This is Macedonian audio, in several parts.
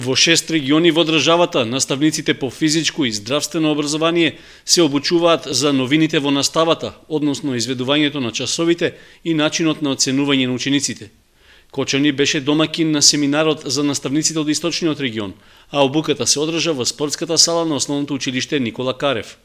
Во 6 региони во државата, наставниците по физичко и здравствено образование се обучуваат за новините во наставата, односно изведувањето на часовите и начинот на оценување на учениците. Кочани беше домакин на семинарот за наставниците од Источниот регион, а обуката се одржа во спортската сала на Основното училиште Никола Карев.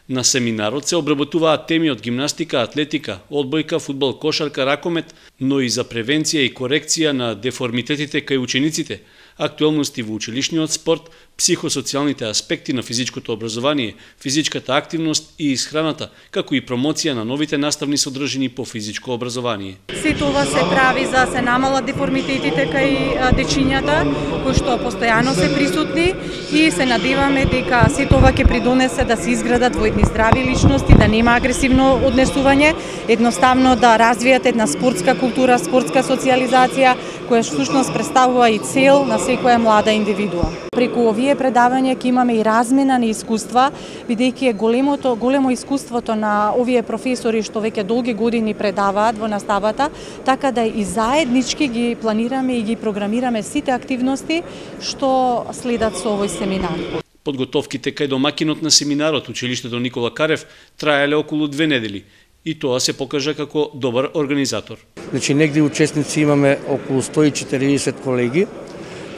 На семинарот се обработуваат теми од гимнастика, атлетика, одбојка, фудбал, кошарка, ракомет, но и за превенција и корекција на деформитетите кај учениците, актуелности во училишниот спорт, психосоцијалните аспекти на физичкото образование, физичката активност и исхраната, како и промоција на новите наставни содржини по физичко образование. Сето ова се прави за се намалат деформитетите кај дечињата, кои што постојано се присутни, и се надеваме дека сето ова ќе придонесе да се изградат во едни здрави личности, да нема агресивно однесување, едноставно да развијат една спортска култура, спортска социјализација, која всушност представува и цел на секоја млада индивидуа. Преку овие предавања ќе имаме и размена на искуства, бидејќи е големо искуството на овие професори што веќе долги години предаваат во наставата, така да и заеднички ги планираме и ги програмираме сите активности што следат со овој семинар. Подготовките кај домакинот на семинарот, училиштето Никола Карев, траеле околу 2 недели. И тоа се покажа како добар организатор. Значи, негде учесници имаме околу 140 колеги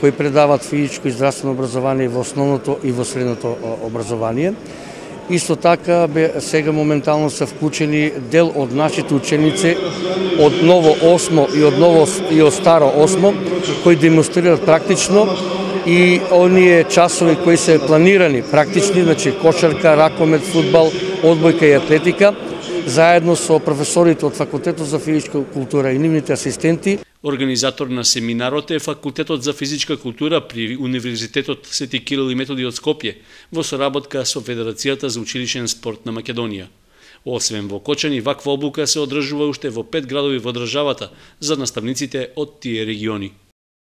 кои предават физичко и здравствено образование во основното и во средното образование. Исто така, сега моментално се вклучени дел од нашите ученици од ново 8 и од старо 8, кои демонстрираат практично и оние часови кои се планирани практични, значи кошарка, ракомет, фудбал, одбојка и атлетика, заедно со професорите од Факултетот за физичка култура и нивните асистенти. Организатор на семинарот е Факултетот за физичка култура при Универзитетот Свети Кирил и Методи од Скопје, во соработка со Федерацијата за училишен спорт на Македонија. Освен во Кочани, ваква обука се одржува уште во 5 градови во државата за наставниците од тие региони.